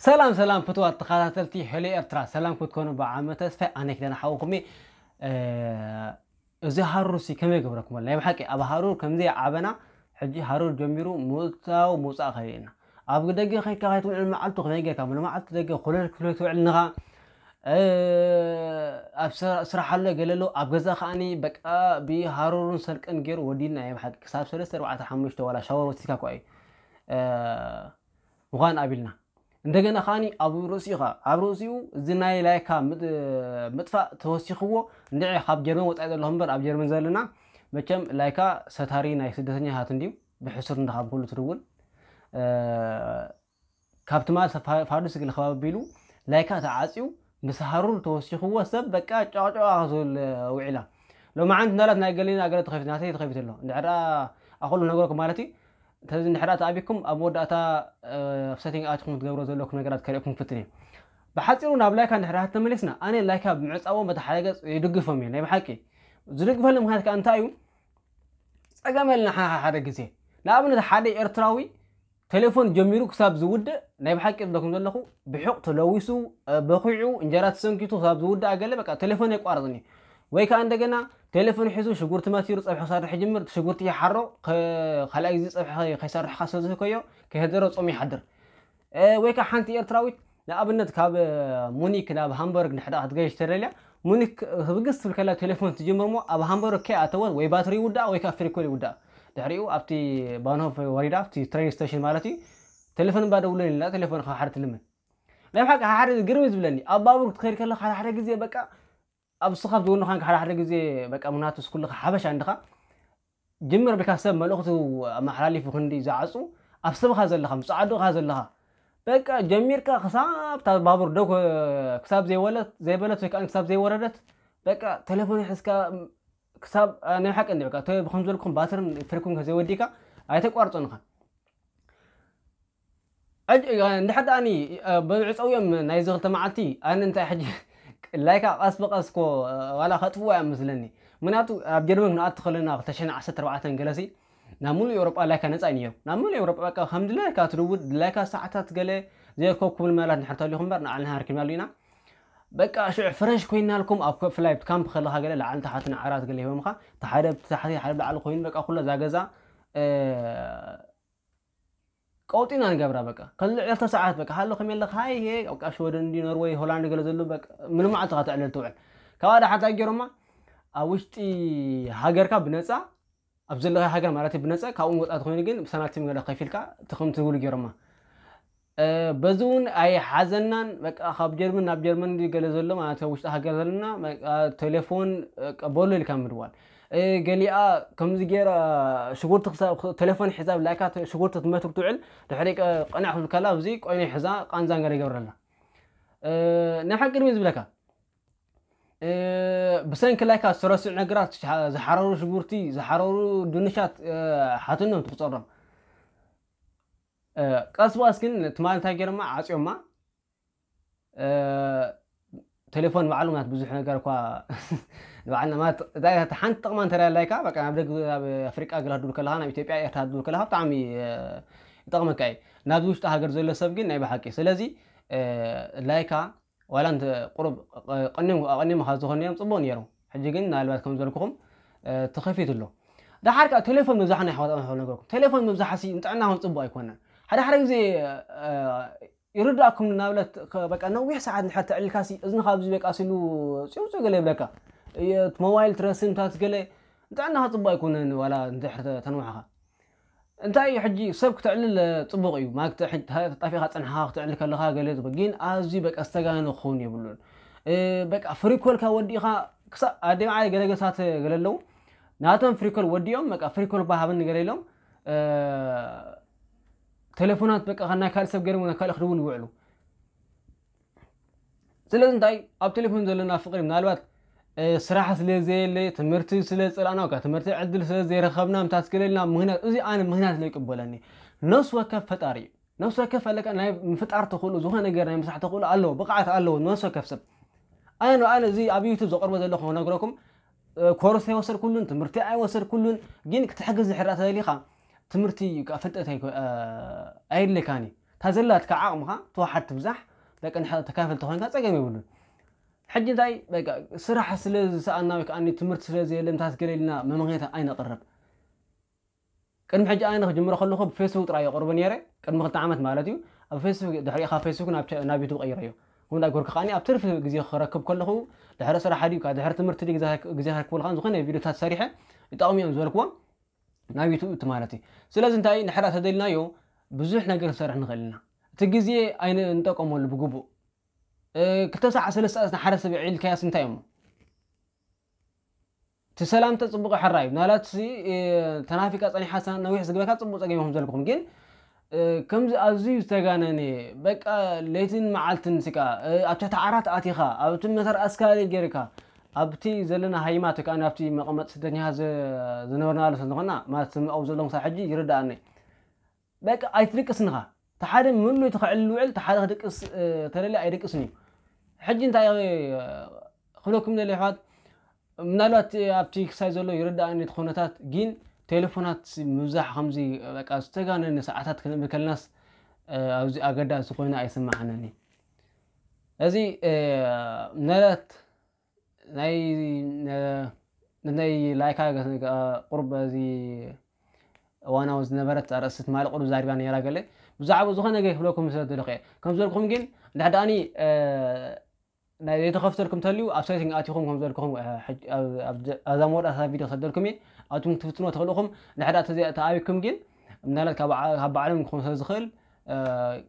ሰላም ሰላም ፍትዋት ተኸታተልቲ ሄሎ ኤርትራ፣ ሰላም ክትኮኑ ብዓሚ ተስፋ ኣነ ክደና ሓውኩም እየ። እዚ ሃሩር ሲ ከመይ ገብረኩም? ናይ ብሓቂ ኣብ ሃሩር ከምዚ ዓበና። ሕጂ ሃሩር ጀሚሩ ምውታው ምውፃእ ከሪእና። ኣብ ደገ ከይድካ ከይትውዕል መዓልቱ ከመይ ጌርካ? መዓልቱ ደገ ኮለል ክፍለ ትውዕል ንኻ። ኣብ ስራሕ ኣሎ ገለ ኣሎ፣ ኣብ ገዛ ከዓኒ በቃ ብሃሩርን ሰልቅን ገይሩ ወዲና። ናይ ብሓቂ ክሳብ ሰለስተ ኣርባዕተ ሓሙሽተ ዋላ ሻወር ወሲድካ እኳ እዩ ምዃን ኣቢልና። እንደገና ከዓኒ ኣብ ርእሲኡ ኸዓ፣ ኣብ ርእሲኡ እዚ ናይ ላይካ ምጥ- ምጥፋእ ተወሲኽዎ። እንድዒ ካብ ጀርመን ወፃኢ ዘለኹም እምበር፣ ኣብ ጀርመን ዘለና መቸም ላይካ ሰታሪ ናይ ስደተኛታት እንድዩ። ብሕሱር እንዳ ካብ ኩሉ ትድውል ካብ ትማል ፋዱስ ግል ከባቢ ኣቢሉ ላይካ ተዓፅዩ፣ ምስ ሃሩር ተወሲኽዎ ሰብ በቃ ጫቕጫቕ ዝብል ውዒላ። ሎማዓንቲ እንዳላት ናይ ገሊና ገለ ተኸፊት ናተይ ተኸፊት ኣሎ። እንድሕር ኣኹሉ ነገርኩም ማለት እዩ። ተዚ እንድሕር ተኣቢኩም ኣብ መወዳእታ ኣብ ሰቲንግ ኣትኩም ክትገብሮ ዘለኩም ነገራት ከርእኩም ክፍትን እየ። ብሓፂሩ ናብ ላይካ እንድሕር ተመሊስና፣ ኣነ ላይካ ብምዕፃዎም በቲ ሓደ ገፅ ይድግፎም እየ። ናይ ብሓቂ ዝድግፈሉ ምክንያት ከዓ እንታይ እዩ? ፀገም ኣለና ሓ- ሓደ ግዜ። ንኣብነት ሓደ ኤርትራዊ ቴሌፎን ጀሚሩ ክሳብ ዝውድእ፣ ናይ ብሓቂ ዝብለኩም ዘለኹ፣ ብሑቕ ተለዊሱ፣ በኺዑ፣ እንጀራ ተሰንኪቱ ክሳብ ዝውድእ ገለ በቃ ቴሌፎን የቋርፅኒ። ወይ ከዓ እንደገና ቴሌፎን ሒዙ ሽጉርቲ መቲሩ ፀብሒ ክሰርሕ ይጅምር። ሽጉርቲ ይሓሮ፣ ካልኣይ ግዜ ፀብሒ ከይሰርሕ ከሰዝህከዮ ከይህደሮ ጾም ይሓድር። ወይ ከዓ ሓንቲ ኤርትራዊት ንኣብነት ካብ ሙኒክ ናብ ሃምበርግ ንሕዳ ክትገይሽ ተደልያ፣ ሙኒክ ህብግስ ትብል ከላ ቴሌፎን ትጅምር እሞ ኣብ ሃምበርግ ከይኣተወት ወይ ባትሪ ይውዳእ ወይ ከዓ ፍሪኮል ይውዳእ። ድሕሪኡ ኣብቲ ባንሆፍ ወሪዳ ኣብቲ ትሬን ስቴሽን ማለት እዩ፣ ቴሌፎን እባ ደውለኒ ኢላ ቴሌፎን ካብ ሓደ ትልምን። ናይ ብሓቂ ሓደ ግርም ዝብለኒ ኣብ ባቡር ክትኸይድ ከለካ ሓደ ሓደ ግዜ በቃ ኣብ ስኻ ዝውንኻን ሓደ ሓደ ግዜ በቃ ምናቱ ስኩልኻ ሓበሻ እንድኻ ጅምር ብካ ሰብ መልእኽቱ ኣመሓላሊፉ ክንዲ ዝዓፁ ኣብ ስብኻ ዘለኻ ምፅዓዱኻ ዘለኻ በቃ ጀሚርካ ክሳብ እታ ባቡር ደው ክሳብ ዘይወለት ዘይበለት ወይ ከዓ ክሳብ ዘይወረደት በቃ ቴሌፎን ሒዝካ ክሳብ ናይ ሓቂ እንዲ በቃ ከም ዝበልኩም ባትርን ፍሪኩን ዘይወዲካ ኣይተቋርፆንኻ። እንድሕር ደኣኒ ብዕፀውዮም ናይዚ ክልተ መዓልቲ ኣነ እንታይ ሕጂ ላይካ ቀስ ብቀስ ኮ ዋላ ከጥፍዋ እዮም ምስለኒ። ምክንያቱ ኣብ ጀርመን ክንኣቱ ከለና ክልተ ሽሕን ዓሰርተ ኣርባዕተን ገለሲ ናብ ሙሉእ ኤውሮጳ ላይካ ነፃ እዩ ነይሩ። ናብ ሙሉእ ኤውሮጳ በቃ ከም ድላይካ ትድውል ድላይካ ሰዓታት ገለ ዘይኮ ክብል መላት ንሕር ተሊኹም እምበር ንዓልና ሃርኪብናሉ ኢና። በቃ ሽዑ ፍረሽ ኮይናልኩም ኣብ ፍላይት ካምፕ ከለካ ገለ ላዕሊ ታሕቲ ንዓራት ገለ ሂቦምካ፣ ሓደ ብታሕቲ ሓደ ብላዕሊ ኮይኑ በቃ ኩላ እዛ ገዛ ቀውጢና ንገብራ በቃ። ከልዕ ዕለተ ሰዓት በቃ ሃሎ ከመይ ኣለካ? ሃይ ሄ በቃ ሽወደን እንዲ ኖርወይ ሆላንድ ገለ ዘሎ በቃ ምንም መዓልቲ ከተዕልል ትውዕል። ካብኣ ዳሓታ ገይሮማ ኣብ ውሽጢ ሃገርካ ብነፃ ኣብ ዘለኻ ሃገር ማለት እዩ ብነፃ ካብኡ ወፃእ ተኮይኑ ግን ብሳንቲም ገለ ከፊልካ ትኽም ትብሉ ገይሮማ። በዚ እውን ኣይሓዘናን በቃ ካብ ጀርመን ናብ ጀርመን ገለ ዘሎ ማለት ውሽጢ ሃገር ዘለና ቴሌፎን በሎ ኢልካ ምድዋል። ገሊኣ ከምዚ ገይራ ሽጉርቲ ክሳብ ቴሌፎን ሒዛ ብላይካ ሽጉርቲ ትመትር ትውዕል። ድሕሪ ቀንዕ ክብል ከላ ኣብዚ ቆይኖ ሒዛ ቃንዛ ገለ ይገብረላ። ናይ ሓቂ ድሚ ዝብለካ ብሰንኪ ላይካ ዝተረስዑ ነገራት ዝሓረሩ ሽጉርቲ ዝሓረሩ ድንሻት ሓትኖም ትቁፀሮም። ቀስ ብቀስ ግን ትማል እንታይ ገይሮማ ዓፅዮማ። ቴሌፎን ባዕሉ ማለት ብዙሕ ነገር እኳ ንባዕልና ማለት እታ ሓንቲ ጥቕማ እንተ ላይካ በቃ ናብ ደግ ኣብ ኣፍሪቃ ገለ ክድውል ከለካ ናብ ኢትዮጵያ ኤርትራ ክድውል ከለካ ብጣዕሚ ይጠቕመካ እዩ። ናብዚ ውሽጢ ሃገር ዘሎ ሰብ ግን ናይ ብሓቂ ስለዚ ላይካ ዋላ እንተ ቁሩብ ቀኒም ኣቐኒምኻ ዝኾን ነይሮም ፅቡቅ ነይሩ። ሕጂ ግን ምናልባት ከም ዝበልኩኹም ተኸፊቱ ኣሎ። ደሓር ከዓ ቴሌፎን ምብዛሕ ናይ ሓዋጣ ነገርኩም ቴሌፎን ምብዛሕ ሲ ንጥዕና ውን ፅቡቅ ኣይኮነን። ሓደ ሓደ ግዜ ይርዳእኩም ናብለት በቃ ነዊሕ ሰዓት ንድሕር ተዕልልካ ሲ እዝንኻ ኣብዚ በቃ ሲሉ ፅውፅው ገለ ይብለካ። እቲ ሞባይል ትረስምታት ገለ ንጥዕናኻ ፅቡቅ ኣይኮነን። ዋላ እንድሕር ተንውሕኻ እንታይ እዩ ሕጂ ሰብ ክተዕልል ፅቡቅ እዩ ማለት ተጣፊኻ ፀንሓኻ ክተዕልል ከለካ ገለ ግን ኣዝዩ በቃ ዝተጋነ ክኸውን የብሉን። በቃ ፍሪኮልካ ወዲእኻ ክሳብ ኣደይ ገለገሳት ገለ ኣለዉ ናቶም ፍሪኮል ወዲኦም በቃ ፍሪኮል ባሃብን ገለ ኢሎም ቴሌፎናት በቃ ናይ ካልእ ሰብ ገይሮም ናብ ካልእ ክድውል ይውዕሉ። ስለዚ እንታይ ኣብ ቴሌፎን ዘለና ፍቅሪ ምናልባት ስራሕ ስለ ዘየለ ትምህርቲ ስለ ዝፀላእና ወይ ትምህርቲ ዕድል ስለ ዘይረኸብና ምታት ገለ ኢልና ምክንያት እዚ ኣነ ምክንያት ዘይቅበለኒ። ነፍሲ ወከፍ ፈጣሪ እዩ። ነፍሲ ወከፍ ኣለካ ናይ ምፍጣር ተኽእሎ ዝኾነ ነገር ናይ ምስራሕ ተኽእሎ ኣለዎ ብቕዓት ኣለዎ ነፍሲ ወከፍ ሰብ። ኣነ ንኣነ እዚ ኣብ ዩቱብ ዘቕርቦ ዘለኹ ክነግረኩም ኮርስ ኣይወሰድኩሉን ትምህርቲ ኣይወሰድኩሉን። ግን ክትሕግዝ ዝሕራ ተደሊኻ ትምህርቲ ፍልጠት ኣየድልካን እዩ። እታ ዘላትካ ዓቕምኻ ተዋሓድ ትብዛሕ፣ በቃ ንሕ-፣ ተካፈል ተኾይንካ ጸገም የብሉን። ሕጂ እንታይ በቃ ስራሕ ስለ ዝሰኣና ወይ ከኣ ትምህርቲ ስለ ዘየለ ምታት ገለ ኢልና መመኽንያታት ኣይነቕርብ። ቅድሚ ሕጂ ኣነ ክጅምሮ ከለኹ ብፌስቡክ ጥራይ የቕርቦ ነይረ፣ ቅድሚ ክልተ ዓመት ማለት እዩ። ኣብ ፌስቡክ፣ ድሕሪኡ ካብ ፌስቡክ ናብ ተ-፣ ናብ ዩቱብ ቀይረዮ። ከምኡ እንዳገርኩ ከኣ ኣብ ትርፊ ግዜ ክረክብ ከለኹ፣ ድሕሪ ስራሕ ድዩ፣ ድሕሪ ትምህርቲ ድዩ፣ ግዜ፣ ግዜ ክረክበሉ ከኣ ዝኾነ ቪድዮታት ሰሪሐ ይጠቕሙ እዮም ዝበልክዎም ናብ ዩቱብ እቲ ማለት እዩ። ስለዚ እንታይ ንሕዳ ተደሊናዮ ብዙሕ ነገር ክንሰርሕ ንኽእል ኢና። እቲ ግዜ ኣይንጠቀመሉ ብግቡእ። እ፣ ክልተ ሰዓት፣ ሰለስተ ሰዓት ንሓደ ሰብ የዕልልካያስ እንታይ እሞ? እቲ ሰላምታ ጽቡቕ ሕራይ። ምናልባት ሲ፣ እ፣ ተናፊቃ ጸኒሓ ሳ-፣ ነዊሕ ዝግበካ ጽቡቕ ጸገም ይኹም ዘልኩም። ግን፣ እ፣ ከምዚ ኣዝዩ ዝተጋነነ፣ በቃ ለይትን መዓልትን ስቃ፣ እ፣ ኣብ ትሕቲ ዓራት ኣቲኻ፣ ኣብቲ መተር ኣስካሊ ጌርካ፣ ኣብቲ ዘለና ሃይማኖት ወይ ከኣ ኣብቲ መቐመጢ ስደተኛታት ዘ-፣ ዝነበርናሉ ስለ ዝኾንና፣ ማለት ስም ኣብኡ ዘለኹም ክሳብ ሕጂ ይርድኣኒ። በቃ ኣይትድቅስን ኢኻ። እቲ ሓደ ምሉእ እቲ ክዕልል ውዕል፣ እቲ ሓደ ክድቅስ፣ እ፣ ተደልየ ኣይድቅስን እዩ። ሕጂ እንታይ፣ እ፣ ክብለኩም ደልየ ኣሕዋት፣ ምናልባት ኣብቲ ክሳይ ዘሎ ይርድኣኒ እቲ ኩነታት፣ ግን ቴሌፎናት ምብዛሕ ከምዚ በቃ ዝተጋነነ ሰዓታት ክንብል ከለናስ፣ እ፣ ኣብዚ ኣገዳሲ ኮይኑ ኣይስምዓንን እዩ። እዚ፣ እ፣ ምናልባት ናይ፣ ነ-፣ ናይ ላይካ ገ-፣ ገ-፣ ቁሩብ እዚ እዋናዊ ዝነበረት ኣርእስቲ ትማሊ ቁሩብ ዛሪባ ነይራ ገለ። ብዛዕባ ዝኾነ ነገር ክብለኩም ስለ ዝደለኹ እየ። ከም ዝበልኩም ግን፣ እንድሕር ደኣኒ፣ እ፣ ናይ ዘይተኸፍተልኩም ተልዩ፣ ኣብ ሴቲንግ ኣቲኹም ከም ዝበልኩኹም፣ እ፣ ሕጅ-፣ ኣብ፣ ኣብ ዘ-፣ ኣብዛ መወዳእታ ቪድዮ ክሰደልኩም እየ። ኣቱም ክትፍትንዎ ትኽእሉ ኢኹም። እንድሕር ደኣ ተዘይ-፣ ተኣቢኩም ግን፣ ምናልባት ካብ በዓ-፣ ካብ ባዕሎም ክኾን ስለ ዝኽእል፣ እ፣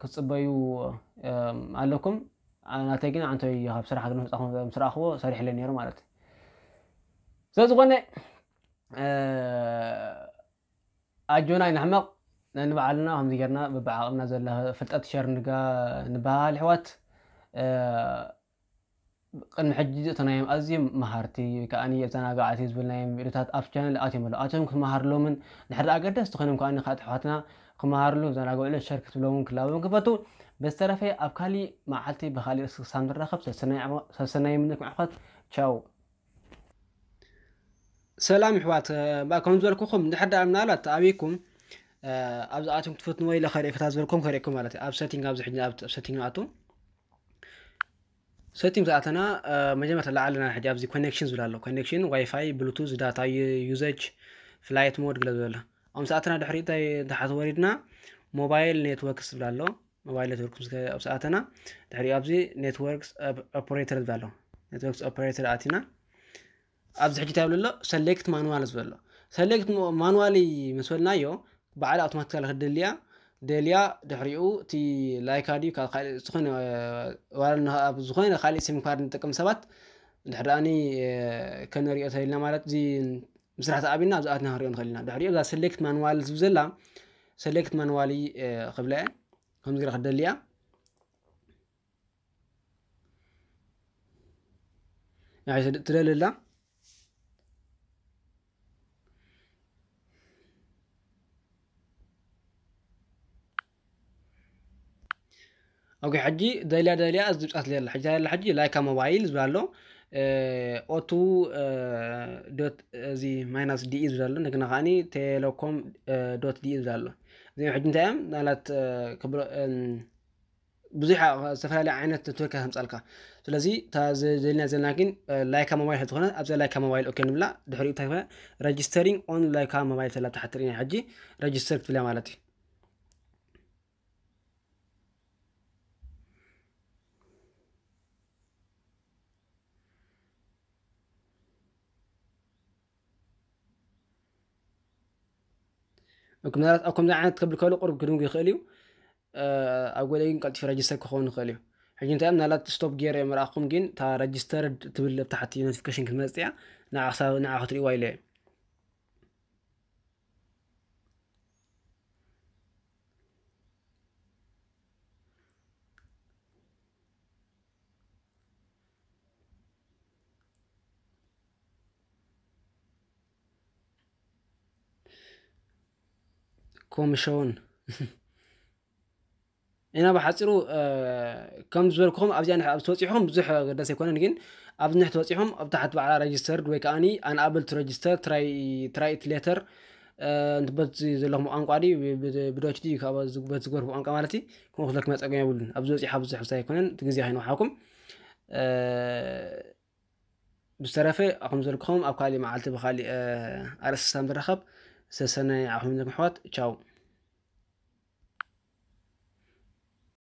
ክትጽበዩ፣ እ፣ ኣለኩም። ኣ-፣ ናተይ ግን ኣንቶይ ካብ ስራሕ ግን ምጻኹ ምስ ረኣኽዎ ሰሪሕለይ ነይሩ ማለት እዩ። ስለ ዝኾነ፣ እ፣ ኣጆና ኣይንሕመቕ፣ ነንባዕልና ከምዚ ጌርና በብዓቕምና ዘላ ፍልጠት ሸር ንጋ-፣ ንበሃል ኣሕዋት። እ፣ ቅድሚ ሕጂ ዘእተናዮም ኣዝዮም መሃርቲ ወይ ከኣ የዘናጋዕቲ ዝብልናዮም ቪድዮታት ኣብ ቻነል ኣትዮም ኣለዉ። ኣትዮም ክትመሃርሎምን ድሕሪ ኣገደስቲ ኮይኖም ከኣ ንኻልኦት ኣሕዋትና ክመሃርሉ፣ ክዘናግዕሉ፣ ሸር ክትብሎምን ክላቦም ክፈቱ። ብዝተረፈ ኣብ ካሊእ መዓልቲ ብኻሊእ ርእሲ ክሳብ ንራኸብ ሰሰናይ ዓሞ-፣ ሰሰናይ ምንኩም ኣሕዋት። ቻው። ሰላም ኣሕዋት፣ እ፣ ባ-፣ ከም ዝበልኩኹም እንድሕር ደኣ ምናልባት ተኣቢኩም፣ እ፣ ኣብዚ ኣትዮም ክትፈትንዎ ኢለ ከርእየኩም፣ እታ ዝበልኩም ከርእየኩም ማለት እዩ። ኣብ ሴቲንግ ኣብዚ ሕጂ ኣብ፣ ኣብ ሴቲንግ ንኣቱ። ሴቲንግ ዝኣተና፣ እ፣ መጀመርታ ላዕልና ሕጂ ኣብዚ ኮኔክሽን ዝብል ኣሎ። ኮኔክሽን፣ ዋይፋይ፣ ብሉቱዝ፣ ዳታ ዩ-፣ ዩዘጅ፣ ፍላይት ሞድ ገለ ዝብል ኣሎ። ኣብ ዝኣተና ድሕሪ እንታይ ታሕቲ ወሪድና ሞባይል ኔትወርክስ ዝብል ኣሎ። ሞባይል ኔትወርክ ምስ ገ-፣ ኣብ ዝኣተና ድሕሪኡ ኣብዚ ኔትወርክስ ኦፕ-፣ ኦፕሬተር ዝብል ኣሎ። ኔትወርክስ ኦፕሬተር ኣቲና ኣብዚ ሕጂ እንታይ ይብል ኣሎ? ሰሌክት ማኑዋል ዝብል ኣሎ። ሰሌክት ሞ-፣ ማኑዋሊ ምስ በልናዮ ባዕላ ኣውቶማቲካሊ ክትደልያ ደልያ፣ ድሕሪኡ እቲ ላይካ ድዩ ካብ ካልእ ዝኾነ፣ ዋላ ንኻ-፣ ኣብ ዝኾነ ካልእ ሲም ካርድ ንጥቀም ሰባት ድሕሪ ደኣኒ፣ እ፣ ከነሪኦ ተደሊና ማለት እዚ ምስራሕ ተኣብና ኣብዚ ኣትና ክንሪኦ ንኽእል ኢና። ድሕሪኡ እዛ ሰሌክት ማኑዋል ዝብል ዘላ ሰሌክት ማኑዋሊ፣ እ፣ ክብላ እየ። ከምዚ ገይራ ክትደልያ ንዓይ ትደ-፣ ትደሊ ኣላ። ኦኬ፣ ሕጂ ደልያ ደልያ እዚ ድምጻት ደልያ ኣላ። ሕጂ ደልያ ኣላ፣ ሕጂ ላይካ ሞባይል ዝብል ኣሎ። እ፣ ኦቱ፣ እ፣ ዶት፣ እዚ ማይናስ ዲ ኢ ዝብል ኣሎ። እንደገና ከኣኒ ቴሌኮም፣ እ፣ ዶት ዲ ኢ ዝብል ኣሎ። እዚኦም ሕጂ እንታይ እዮም? ናላት፣ እ፣ ክብሎ-፣ እም፣ ብዙሕ ኣ-፣ ዝተፈላለየ ዓይነት ኔትወርክ ከምጻልካ። ስለዚ እታ ዘ-፣ ዘልና ዘለና ግን፣ እ፣ ላይካ ሞባይል ስለዝኾነ ኣብዛ ላይካ ሞባይል ኦኬ ንብላ። ድሕሪኡ እንታይ ኮነ? ረጅስተሪንግ ኦን ላይካ ሞባይል ተላ ተሓት ርኢና ሕጂ ረጅስተር ክትብላ ማለት እዩ። ኦኬ፣ ምናልባት ኣብ ከምዚ ዓይነት ክብል ከሎ ቁሩብ ክድንጉ ይኽእል እዩ። እ፣ ኣብ ገለ ግን ቀልጢፉ ረጅስተር ክኸውን ይኽእል እዩ። ሕጂ እንታይ ምናልባት ስቶፕ ገይረ ምርኣኹም ግን እታ ረጅስተርድ ትብል ኣብ ታሕቲ ኖቲፊኬሽን ክትመጽእ እያ። ንዓ ክሳብ ንዓ ክትርእይዋ ኢለ እየ። ኮሚሽን ኢና ብሓፂሩ፣ እ፣ ከም ዝበልኩኹም ኣብዚኣ ንሕ-፣ ኣብ ዝተወፂኹም ብዙሕ ኣገዳሲ ኣይኮነን፣ ግን ኣብዚ ንሕ ተወፂኹም ኣብ ታሕቲ ባዕላ ረጅስተርድ ወይ ከኣኒ ኣንኣብል ቱ ረጅስተር ትራይ፣ ትራይ ኢት ሌተር እ፣ በቲ ዘለኹም ቋንቋ ድዩ፣ ብ-፣ ብ-፣ ብዶች ድዩ፣ ካብ ዝ-፣ በቲ ዝገርፉ ቋንቋ ማለት እዩ፣ ከምኡ ክለኩም ጸገም የብሉን። ኣብዚ ወጺእ፣ ኣብዚ ሕሳይ ኣይኮነን፣ እቲ ግዜ ከይንውሓኩም። እ፣ ብዝተረፈ፣ ኣኹም ዘልክኹም ኣብ ካሊእ መዓልቲ ብካሊእ፣ እ፣ ኣርእስቲ ሳም ዝራኸብ። ሰሰናይ ኣኹም ዘልክኹም ኣሕዋት። ቻው።